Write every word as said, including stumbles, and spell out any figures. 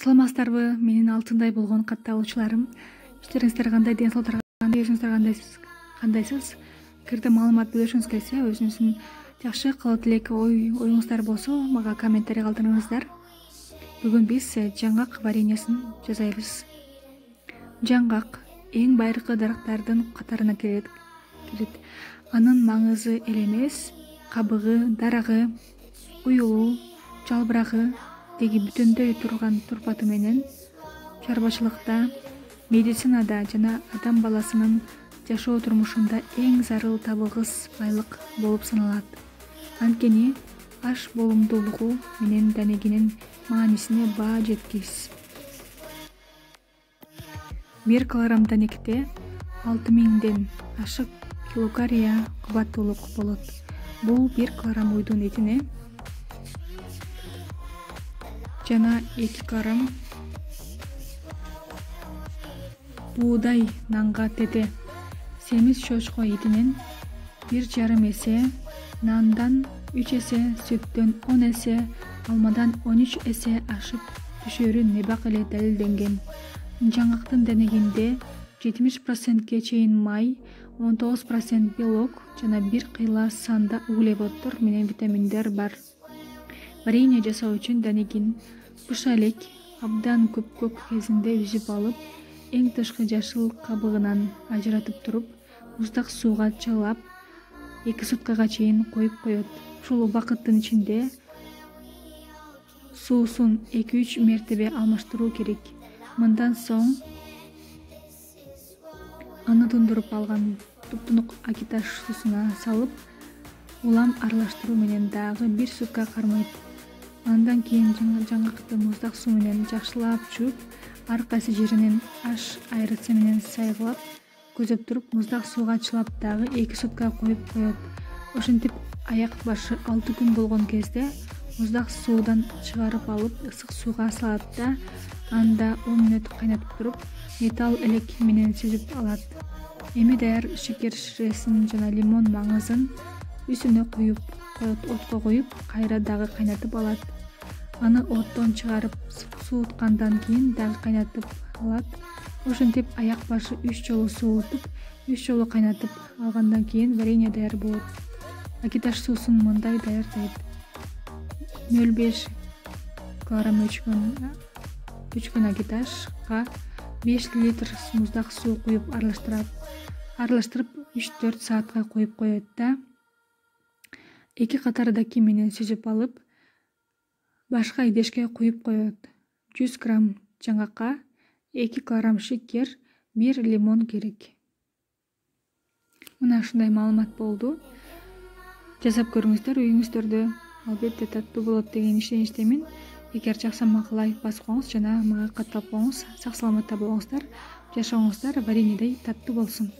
Саламатсыздарбы, менин алтындай болгон катталуучуларым. Иштериңиздер кандай, ден соолуктар кандай, өзүңүздөр кандайсыз? Кандайсыз? Эгерде маалымат бөлүшүңүз келсе, өзүңүздүн жакшы кылуу тилек ой оюңуздар болсо, мага комментарий калтырыңыздар. Бүгүн биз жаңгак вареньесин жасайбыз. Жаңгак эң байыркы дарактардын катарына кирет. Анын маңызы эле эмес, кабыгы, дарагы, уюлу, жалбырагы деги бүтөндөй турган турпаты менен чарбачылыкта, медицинада жана адам баласынын жашоо турмушунда эң зарыл табылгыс байлык болуп саналат. Анткени аш болумдуулугу менен данегинин маанисине баа жеткис. бир килограмм данекте алты миңден ашык килокалория кубаттуулук болот. Бул бир килограмм уйдун этине жана эки килограмм буудай нанга тете. Семиз чочко этинен бир жарым эсе, нандан үч эсе, сүттөн он эсе, алмадан он үч эсе ашып түшөрү небак эле далилденген. Жаңгактын денегинде жетимиш процентке чейин май, он тогуз процент белок жана бир кыйла санда углеводдор менен витаминдер бар. Варенье жасоо үчүн данегин быша элек абдан көпкөк кезинде үзүп алып, эң тышкы жашыл кабыгынан ажыратып туруп, муздак сууга чылап, эки суткага чейин коюп коет. Ушул убакыттын ичинде суусун эки үч мертебе алмаштыруу керек. Мындан соң аны тундуруп алган туп-тунук акиташ суусуна салып, улам аралаштыруу менен дагы бир сутка кармайт. Андан кийин жаңгакты муздак суу менен жакшылап жууп, ар кайсы жеринен аш айрыцы менен сайгылап, көзөп туруп, муздак сууга чылап дагы эки сутка коюп коет. Ошентип аяк башы алты күн болгон кезде муздак суудан чыгарып алып, ысык сууга салат да, анда он мүнөт кайнатып туруп, металл элек менен сүзүп алат. Эми даяр шекер ширесин жана лимон маңызын үстүнө куюп коет, отко коюп, кайра дагы кайнатып алат. Аны оттон чыгарып, сууткандан кийин дагы кайнатып алат. Ошентип аяк башы үч жолу суутуп, үч жолу кайнатып алгандан кийин варенье даяр болот. Акиташ суусун мындай даярдайт. нөл беш килограмм өчкөн өчкөн акиташка беш литр муздак суу куюп аралаштырат. Аралаштырып үч төрт саатка коюп коет да, эки катардаки менен сүзүп алып, башка идешке куюп коет. жүз грамм жаңгакка эки килограмм шекер, бир лимон керек. Мына ушундай маалымат болду. Жасап көрүңүздөр үйүңүздөрдө. Албетте таттуу болот деген ишеничтемин. Эгер жаксамак лайк басып коюңуз жана мага катталып коюңуз. Сак саламатта болуңуздар, жашооңуздар вареньедей таттуу болсун.